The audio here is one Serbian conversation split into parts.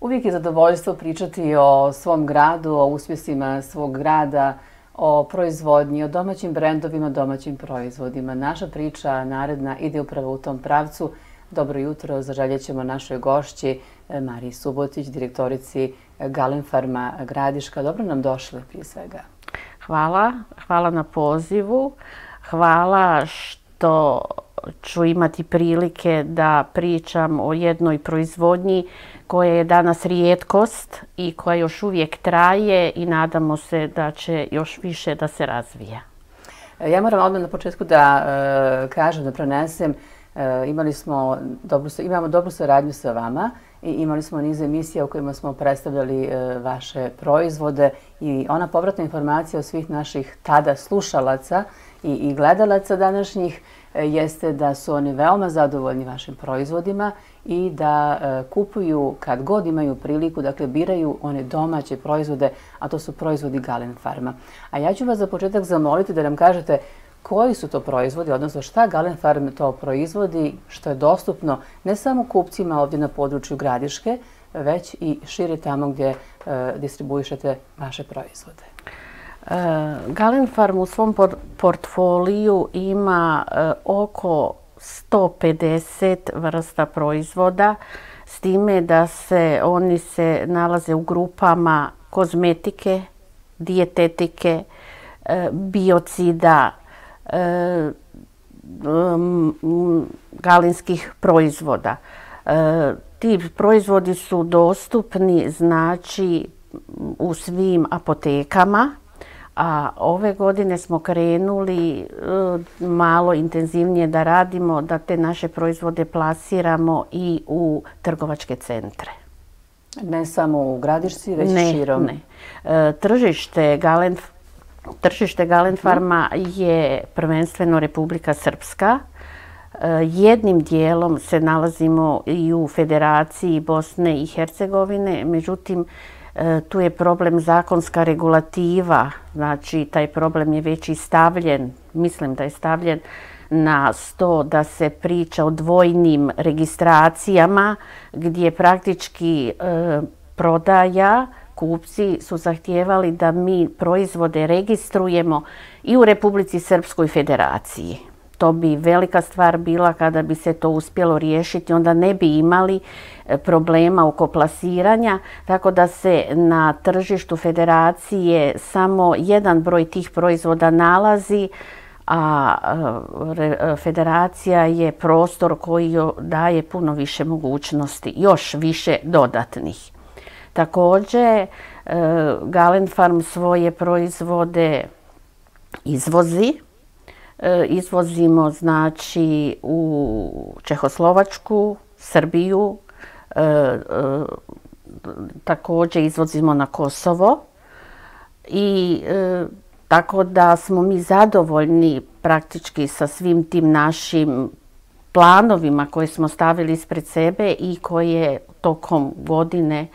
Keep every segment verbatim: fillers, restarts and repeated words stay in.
Uvijek je zadovoljstvo pričati o svom gradu, o uspjesima svog grada, o proizvodnji, o domaćim brendovima, domaćim proizvodima. Naša priča naredna ide upravo u tom pravcu. Dobro jutro, zaželjet ćemo našoj gošći Mariji Subotić, direktorici Galenfarma Gradiška. Dobro nam došli prije svega. Hvala, hvala na pozivu. Hvala što ću imati prilike da pričam o jednoj proizvodnji koja je danas rijetkost i koja još uvijek traje i nadamo se da će još više da se razvija. Ja moram odmah na početku da e, kažem, da prenesem, e, imali smo dobru, imamo dobru saradnju sa vama i imali smo niz emisija u kojima smo predstavljali e, vaše proizvode i ona povratna informacija od svih naših tada slušalaca i, i gledalaca današnjih jeste da su oni veoma zadovoljni vašim proizvodima i da e, kupuju kad god imaju priliku, dakle biraju one domaće proizvode, a to su proizvodi Galenfarma. A ja ću vas za početak zamoliti da nam kažete koji su to proizvodi, odnosno šta Galenfarm to proizvodi, što je dostupno ne samo kupcima ovdje na području Gradiške, već i šire tamo gdje e, distribuišete vaše proizvode. Galenfarm u svom portfoliju ima oko sto pedeset vrsta proizvoda, s time da se oni se nalaze u grupama kozmetike, dijetetike, biocida, galenskih proizvoda. Ti proizvodi su dostupni, znači, u svim apotekama. A ove godine smo krenuli malo intenzivnije da radimo, da te naše proizvode plasiramo i u trgovačke centre. Ne samo u Gradišci, već ne, širom? Ne, Tržište, Galen, tržište Galenfarma je prvenstveno Republika Srpska. Jednim dijelom se nalazimo i u Federaciji Bosne i Hercegovine, međutim, tu je problem zakonska regulativa, znači taj problem je već i stavljen, mislim da je stavljen na sto da se priča o dvojnim registracijama gdje praktički e, prodaja, kupci su zahtijevali da mi proizvode registrujemo i u Republici Srpskoj Federaciji. To bi velika stvar bila kada bi se to uspjelo riješiti, onda ne bi imali problema oko plasiranja, tako da se na tržištu federacije samo jedan broj tih proizvoda nalazi, a federacija je prostor koji daje puno više mogućnosti, još više dodatnih. Također, Galenfarm svoje proizvode izvozi. Izvozimo, znači, u Čehoslovačku, Srbiju, e, e, također izvozimo na Kosovo i e, tako da smo mi zadovoljni praktički sa svim tim našim planovima koje smo stavili ispred sebe i koje tokom godine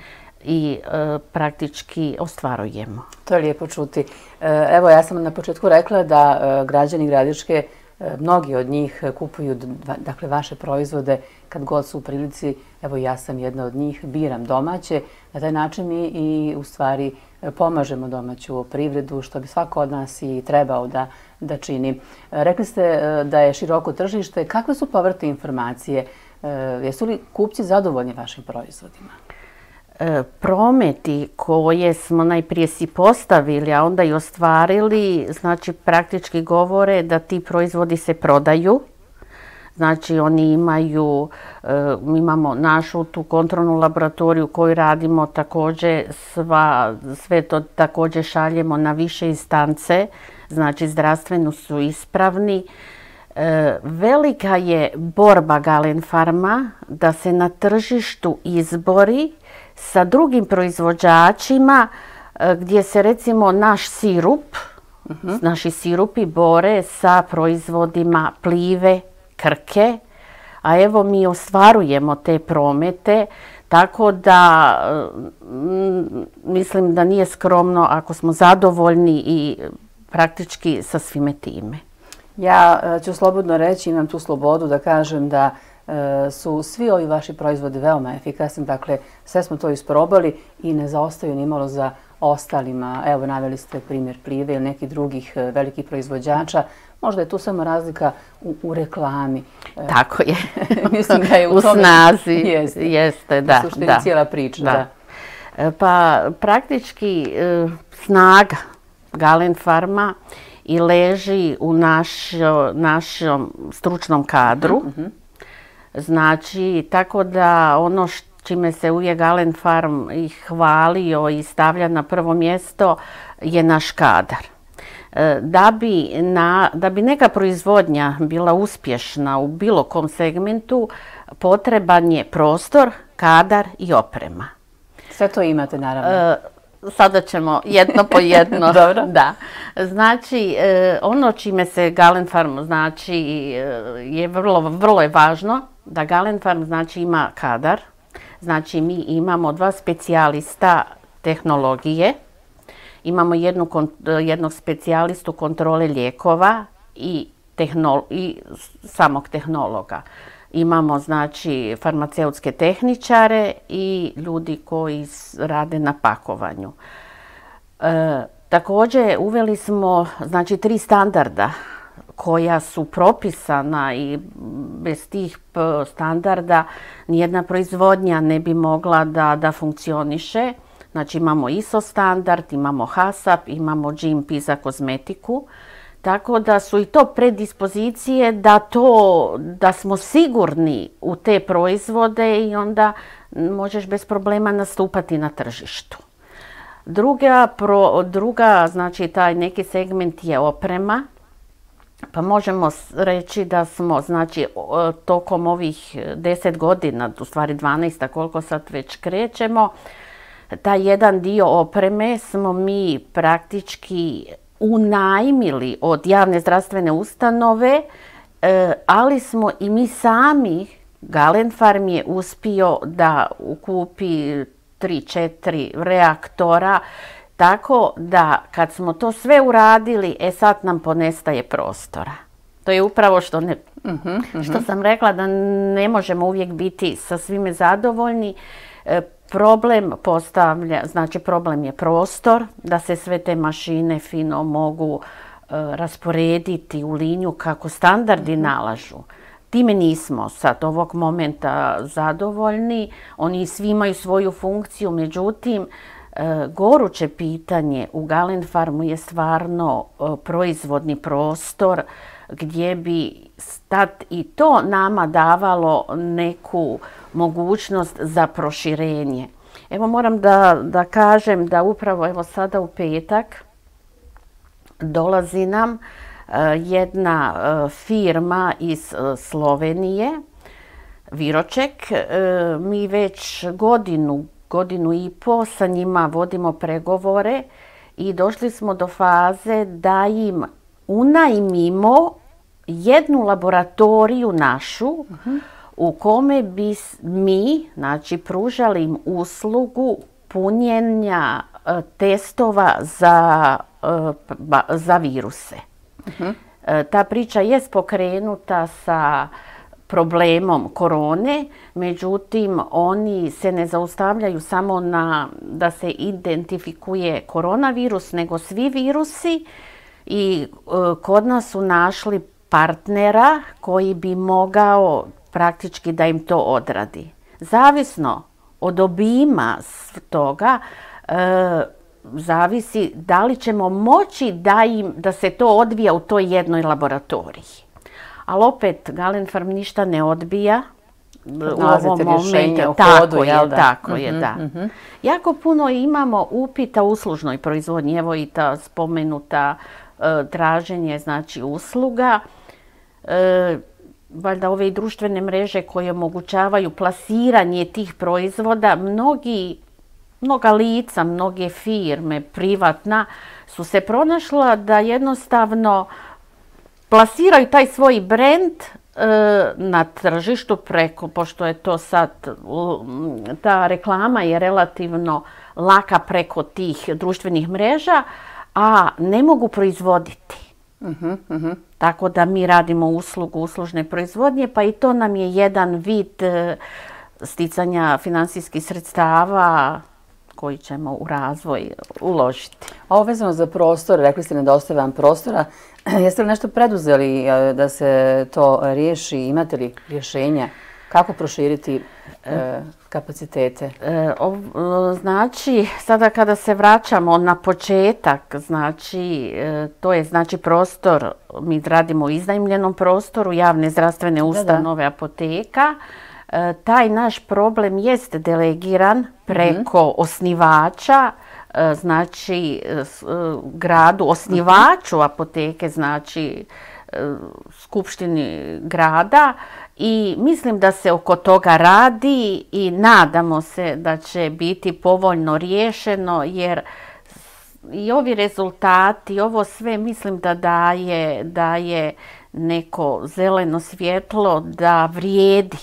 i e, praktički ostvarujemo. To je lijepo čuti. E, evo, ja sam na početku rekla da e, građani Gradiške, e, mnogi od njih kupuju dakle, vaše proizvode kad god su u prilici. Evo, ja sam jedna od njih, biram domaće. Na taj način mi i u stvari pomažemo domaću privredu, što bi svako od nas i trebao da, da čini. E, rekli ste e, da je široko tržište. Kakve su povratne informacije? E, jesu li kupci zadovoljni vašim proizvodima? Prometi koje smo najprije si postavili, a onda i ostvarili, znači praktički govore da ti proizvodi se prodaju. Znači oni imaju, mi imamo našu tu kontrolnu laboratoriju koju radimo također, sva, sve to također šaljemo na više instance, znači zdravstveno su ispravni. Velika je borba Galenfarma da se na tržištu izbori sa drugim proizvođačima gdje se recimo naš sirup, uh-huh. naši sirupi bore sa proizvodima Plive, Krke, a evo mi ostvarujemo te promete, tako da m, mislim da nije skromno ako smo zadovoljni i praktički sa svime time. Ja ću slobodno reći, imam tu slobodu da kažem da su svi ovi vaši proizvodi veoma efikasni. Dakle, sve smo to isprobali i ne zaostaju ni malo za ostalima. Evo, naveli ste primjer Plive ili nekih drugih velikih proizvođača. Možda je tu samo razlika u, u reklami. Tako je. Mislim da je u, u tome, snazi. Jeste, jeste da. U suštini da. cijela priča. Da. Da. Pa praktički snaga Galent Farma i leži u našo, našom stručnom kadru. Mm-hmm. Znači, tako da ono š, čime se uvijek Galent Farm i hvalio i stavlja na prvo mjesto je naš kadar. Da bi, na, da bi neka proizvodnja bila uspješna u bilo kom segmentu, potreban je prostor, kadar i oprema. Sve to imate, naravno. E, sada ćemo jedno po jedno. Dobro. Da. Znači, ono čime se Galent Farm znači je vrlo, vrlo je važno da Galent Farm znači ima kadar. Znači, mi imamo dva specijalista tehnologije. Imamo jednu, jednog specijalistu kontrole lijekova i, tehnolo, i samog tehnologa. Imamo znači farmaceutske tehničare i ljudi koji rade na pakovanju. E, također uveli smo znači tri standarda koja su propisana i bez tih standarda nijedna proizvodnja ne bi mogla da, da funkcioniše. Znači imamo I S O standard, imamo HACCP, imamo G M P za kozmetiku. Tako da su i to predispozicije da, to, da smo sigurni u te proizvode i onda možeš bez problema nastupati na tržištu. Druga, pro, druga znači taj neki segment je oprema. Pa možemo reći da smo znači tokom ovih deset godina, u stvari dvanaest, koliko sad već krećemo, taj jedan dio opreme smo mi praktički unajmili od javne zdravstvene ustanove, ali smo i mi sami, Galent Farm je uspio da ukupi tri četiri reaktora, tako da kad smo to sve uradili, e sad nam ponestaje prostora. To je upravo što, ne, uh-huh, uh-huh. što sam rekla da ne možemo uvijek biti sa svime zadovoljni. Problem postavlja, znači problem je prostor, da se sve te mašine fino mogu uh, rasporediti u liniju kako standardi mm-hmm. nalažu. Time nismo sad ovog momenta zadovoljni, oni svi imaju svoju funkciju, međutim, uh, goruće pitanje u Galent Farmu je stvarno uh, proizvodni prostor gdje bi tad i to nama davalo neku mogućnost za proširenje. Evo moram da, da kažem da upravo evo sada u petak dolazi nam uh, jedna uh, firma iz uh, Slovenije, Viroček. Uh, mi već godinu, godinu i po sa njima vodimo pregovore i došli smo do faze da im unajmimo jednu laboratoriju našu uh-huh. u kome bi mi, znači, pružali im uslugu punjenja uh, testova za, uh, ba, za viruse. Uh-huh. Uh, ta priča je pokrenuta sa problemom korone, međutim, oni se ne zaustavljaju samo na da se identifikuje koronavirus, nego svi virusi i uh, kod nas su našli partnera koji bi mogao praktički da im to odradi. Zavisno od obima toga, e, zavisi da li ćemo moći da, im, da se to odvija u toj jednoj laboratoriji. Ali opet, Galent Farm ništa ne odbija. U ovom momentu, tako je, da? tako je, da. Mm-hmm. Jako puno imamo upita u uslužnoj proizvodnji, evo i ta spomenuta e, traženje, znači usluga. E, valjda ove društvene mreže koje omogućavaju plasiranje tih proizvoda, mnogi, mnoga lica, mnoge firme, privatna, su se pronašla da jednostavno plasiraju taj svoj brend e, na tržištu preko, pošto je to sad, ta reklama je relativno laka preko tih društvenih mreža, a ne mogu proizvoditi. Mhm, mhm. Tako da mi radimo uslugu uslužne proizvodnje, pa i to nam je jedan vid e, sticanja finansijskih sredstava koji ćemo u razvoj uložiti. A ovo vezano za prostor, rekli ste nedostaje vam prostora. Jeste li nešto preduzeli e, da se to riješi? Imate li rješenja? Kako proširiti e, kapacitete? E, o- znači, sada kada se vraćamo na početak, znači, e, to je znači prostor, mi radimo u iznajmljenom prostoru, javne zdravstvene ustanove, apoteka. E, taj naš problem jest delegiran preko osnivača, e, znači e, s- e, gradu, osnivaču apoteke, znači e, skupštini grada, i mislim da se oko toga radi i nadamo se da će biti povoljno riješeno, jer i ovi rezultati, ovo sve mislim da daje, daje neko zeleno svjetlo da vrijedi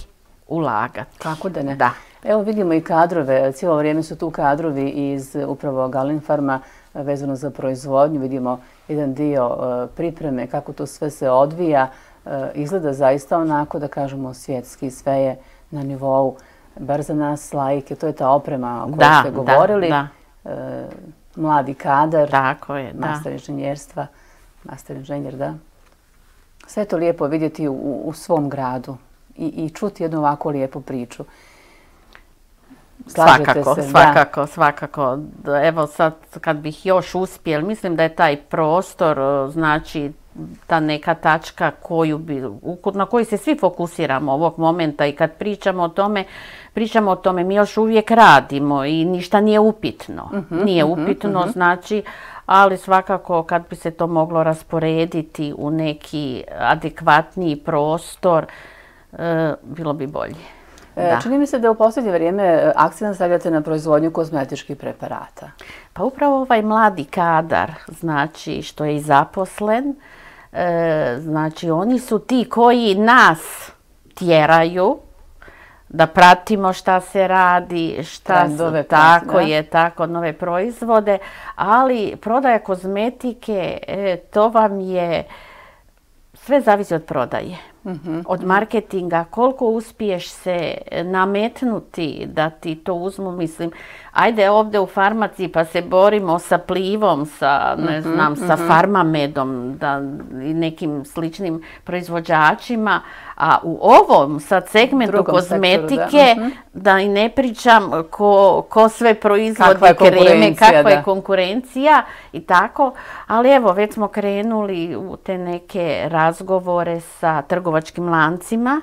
ulagati. Kako da ne? Da. Evo vidimo i kadrove, cijelo vrijeme su tu kadrovi iz upravo Galenfarma vezano za proizvodnju. Vidimo jedan dio e, pripreme, kako to sve se odvija. E, Izgleda zaista onako, da kažemo, svjetski, sve je na nivou, bar za nas laike, to je ta oprema o kojoj Da, ste da, govorili. da. E, Mladi kadar, Tako je, da. master inženjerstva, master inženjer, da. Sve je to lijepo vidjeti u, u svom gradu i, i čuti jednu ovako lijepu priču. Slažete Svakako, se, da. svakako, svakako. D- Evo sad kad bih još uspjel, mislim da je taj prostor, e, znači ta neka tačka koju bi, u- na koju se svi fokusiramo ovog momenta, i kad pričamo o tome, pričamo o tome, mi još uvijek radimo i ništa nije upitno. Nije upitno, znači, ali svakako kad bi se to moglo rasporediti u neki adekvatniji prostor, e, bilo bi bolje. E, Da. Čini mi se da u posljednje vrijeme e, akcent stavljate na proizvodnju kozmetičkih preparata. Pa upravo ovaj mladi kadar, znači što je i zaposlen, e, znači oni su ti koji nas tjeraju da pratimo šta se radi, šta Trendove se, prati, tako da. je, tako, nove proizvode, ali prodaja kozmetike, e, to vam je, sve zavisi od prodaje. Od marketinga, koliko uspiješ se nametnuti da ti to uzmu, mislim, ajde ovdje u farmaciji pa se borimo sa Plivom, sa, ne znam, sa Farmamedom da, i nekim sličnim proizvođačima, a u ovom sad segmentu Drugom sektoru, kozmetike, da. da i ne pričam ko, ko sve proizvodi Kakva je kreme, konkurencija, kakva je da. konkurencija i tako, ali evo već smo krenuli u te neke razgovore sa trgovačkim lancima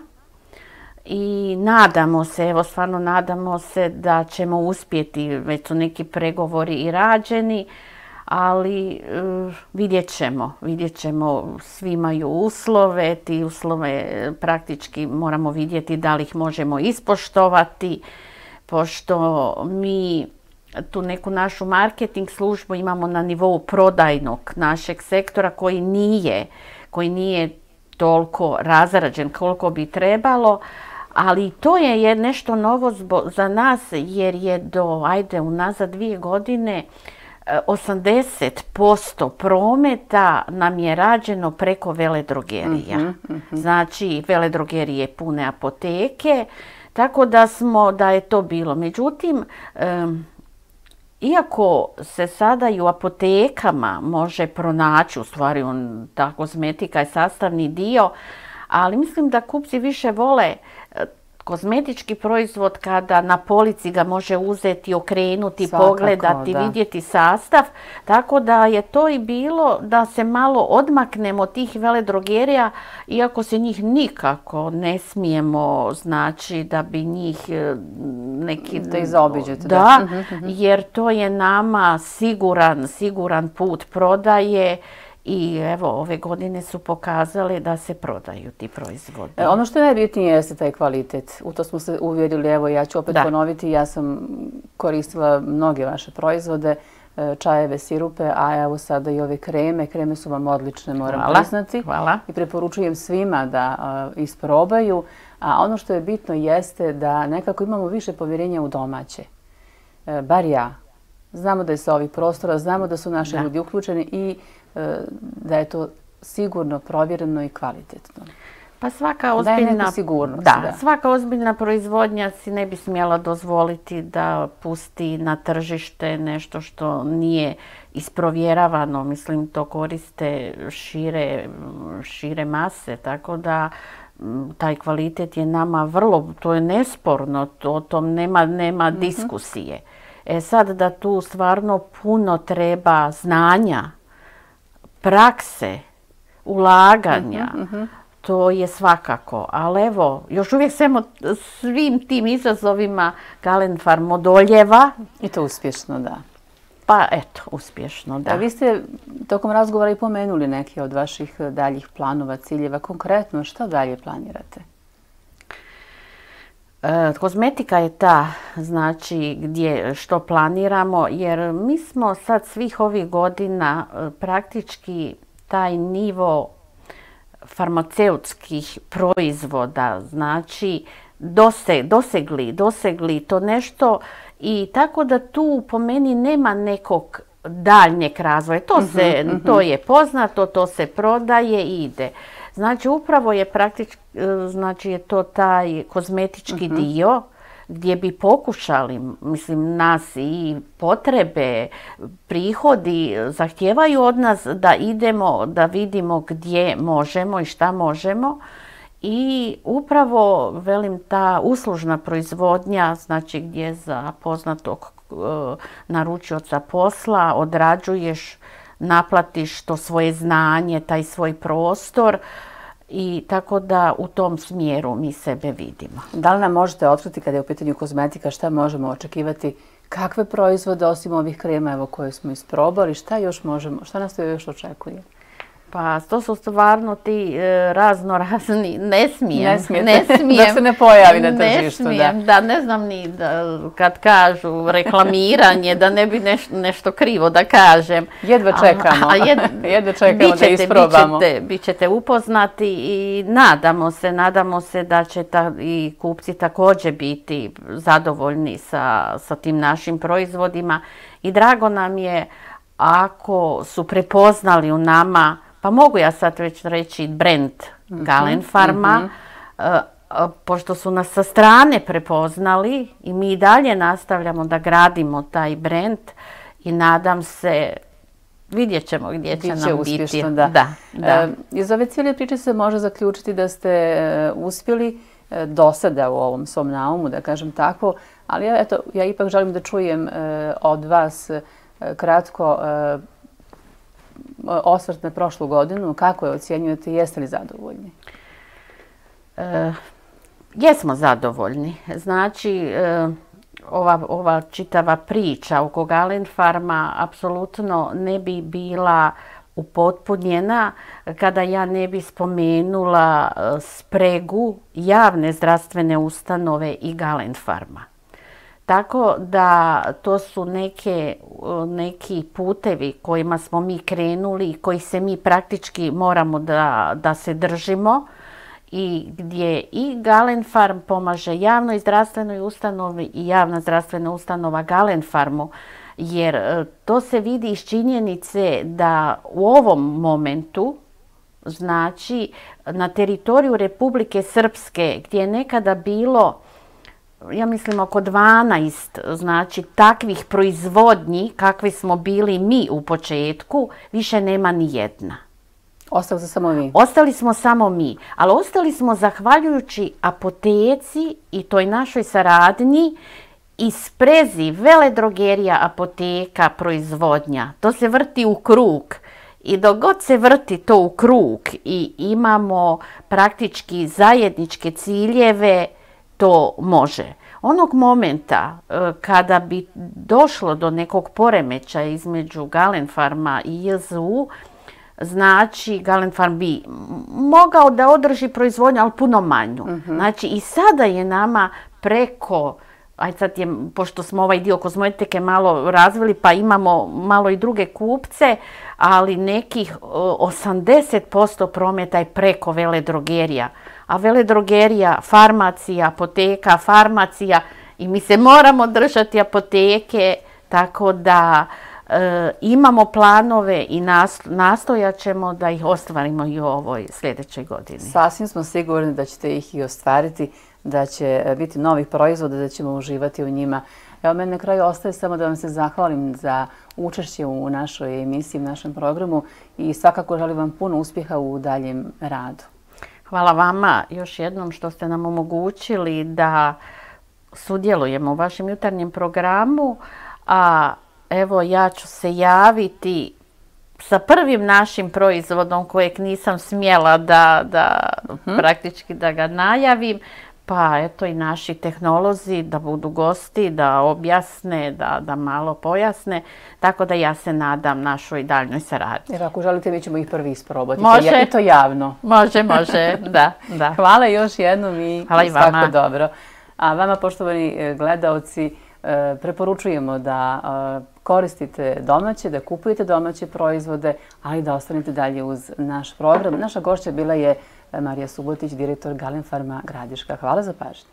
i nadamo se, evo stvarno nadamo se da ćemo uspjeti, već su neki pregovori i rađeni, ali uh, vidjet ćemo, vidjet ćemo, svi imaju uslove, ti uslove praktički moramo vidjeti da li ih možemo ispoštovati, pošto mi tu neku našu marketing službu imamo na nivou prodajnog našeg sektora koji nije, koji nije toliko razrađen koliko bi trebalo, ali to je je nešto novo zbo, za nas, jer je do, ajde, unazad dvije godine osamdeset posto prometa nam je rađeno preko veledrogerija. Znači, veledrogerije pune apoteke, tako da smo, da je to bilo. Međutim, em, iako se sada i u apotekama može pronaći, u stvari on, ta kozmetika je sastavni dio, ali mislim da kupci više vole e, kozmetički proizvod kada na polici ga može uzeti, okrenuti, Svakako, pogledati, da. vidjeti sastav. Tako da je to i bilo da se malo odmaknemo od tih veledrogerija, iako se njih nikako ne smijemo, znači da bi njih e, neki... Da ih zaobiđete, da. Da, jer to je nama siguran, siguran put prodaje. I evo, ove godine su pokazale da se prodaju ti proizvodi. E, ono što je najbitnije jeste taj kvalitet. U to smo se uvjerili, evo ja ću opet Da. ponoviti, ja sam koristila mnoge vaše proizvode, e, čajeve, sirupe, a evo sada i ove kreme. Kreme su vam odlične, moram Hvala, priznati. hvala. I preporučujem svima da a, isprobaju. A ono što je bitno jeste da nekako imamo više povjerenja u domaće. E, bar ja. Znamo da je sa ovih prostora, znamo da su naši Da. ljudi uključeni i e, da je to sigurno, provjereno i kvalitetno? Pa svaka ozbiljna, sigurnost, da, da. svaka ozbiljna proizvodnja si ne bi smjela dozvoliti da pusti na tržište nešto što nije isprovjeravano. Mislim, to koriste šire, šire mase, tako da taj kvalitet je nama vrlo, to je nesporno, to, o tom nema, nema mm-hmm. diskusije. E sad da tu stvarno puno treba znanja, prakse, ulaganja, mm-hmm. to je svakako. Ali evo, još uvijek svemo, svim tim izazovima Galenfarm odoljeva. I to uspješno, da. Pa eto, uspješno, da. A vi ste tokom razgovora i pomenuli neke od vaših daljih planova, ciljeva. Konkretno, što dalje planirate? E, kozmetika je ta, znači, gdje što planiramo, jer mi smo sad svih ovih godina praktički taj nivo farmaceutskih proizvoda, znači, dose, dosegli, dosegli to nešto. I tako da tu po meni nema nekog daljnjeg razvoja. To, se, uh-huh, uh-huh. to je poznato, to se prodaje i ide. Znači upravo je praktički, znači je to taj kozmetički uh-huh. dio gdje bi pokušali, mislim, nas i potrebe, prihodi zahtijevaju od nas da idemo, da vidimo gdje možemo i šta možemo. I upravo, velim, ta uslužna proizvodnja, znači gdje za poznatog e, naručioca posla odrađuješ, naplatiš to svoje znanje, taj svoj prostor i tako da u tom smjeru mi sebe vidimo. Da li nam možete otkriti kada je u pitanju kozmetika šta možemo očekivati, kakve proizvode osim ovih krema evo, koje smo isprobali, šta još možemo, šta nas to još očekuje? Pa to su stvarno ti e, razno razni, ne smijem, ne, ne smijem. Da se ne pojavi na tržištu. Ne smijem, da. da ne znam ni da, kad kažu reklamiranje, da ne bi neš, nešto krivo da kažem. Jedva čekamo, a, a jed, jedva čekamo bićete, da isprobamo. Bićete, bićete upoznati i nadamo se, nadamo se da će ta, i kupci također biti zadovoljni sa, sa tim našim proizvodima. I drago nam je ako su prepoznali u nama, pa mogu ja sad već reći brand mm-hmm, Galenfarma, mm-hmm. uh, pošto su nas sa strane prepoznali i mi i dalje nastavljamo da gradimo taj brand i nadam se, vidjet ćemo gdje će nam uspješno, biti. Da. Da, da. Uh, iz ove cijele priče se može zaključiti da ste uh, uspjeli uh, do sada u ovom svom naumu, da kažem tako, ali ja, eto, ja ipak želim da čujem uh, od vas uh, kratko uh, osvrt na prošlu godinu, kako je ocjenjujete i jeste li zadovoljni? E, jesmo zadovoljni. Znači, e, ova, ova čitava priča oko Galenfarma apsolutno ne bi bila upotpunjena kada ja ne bi spomenula spregu javne zdravstvene ustanove i Galenfarma. Tako da to su neke, neki putevi kojima smo mi krenuli i koji se mi praktički moramo da, da se držimo i gdje i Galenfarm pomaže javnoj zdravstvenoj ustanovi i javna zdravstvena ustanova Galenfarmu, jer to se vidi iz činjenice da u ovom momentu, znači na teritoriju Republike Srpske gdje je nekada bilo, ja mislim, oko dvanaest, znači, takvih proizvodnji kakvi smo bili mi u početku, više nema ni jedna. Ostali smo samo vi? Ostali smo samo mi, ali ostali smo zahvaljujući apoteci i toj našoj saradnji i sprezi veledrogerija, apoteka, proizvodnja. To se vrti u krug. I dok god se vrti to u krug i imamo praktički zajedničke ciljeve, to može. Onog momenta kada bi došlo do nekog poremećaja između Galenfarma i J Z U, znači Galenfarm bi mogao da održi proizvodnju, ali puno manju. Uh-huh. Znači i sada je nama preko, aj sad je, pošto smo ovaj dio kozmetike malo razvili, pa imamo malo i druge kupce, ali nekih osamdeset posto prometa je preko veledrogerija. A veledrogerija, farmacija, apoteka, farmacija i mi se moramo držati apoteke, tako da imamo planove i nastojat ćemo da ih ostvarimo i u ovoj sljedećoj godini. Sasvim smo sigurni da ćete ih i ostvariti, da će biti novih proizvoda, da ćemo uživati u njima. Evo, meni na kraju ostaje samo da vam se zahvalim za učešće u našoj emisiji, u našem programu i svakako želim vam puno uspjeha u daljem radu. Hvala vama još jednom što ste nam omogućili da sudjelujemo u vašem jutarnjem programu, a evo ja ću se javiti sa prvim našim proizvodom kojeg nisam smjela da, da uh-huh. praktički da ga najavim, pa eto i naši tehnolozi da budu gosti, da objasne, da, da malo pojasne, tako da ja se nadam našoj daljnoj saradnji. Jer ako želite, mi ćemo ih prvi isprobati. Može. I to javno. Može, može, da, da. Hvala još jednom i Hvala i svako vama. dobro. A vama, poštovani gledaoci, preporučujemo da koristite domaće, da kupujete domaće proizvode, ali da ostanete dalje uz naš program. Naša gošća bila je Marija Subotić, direktor Galenfarma Gradiška. Hvala za pažnju.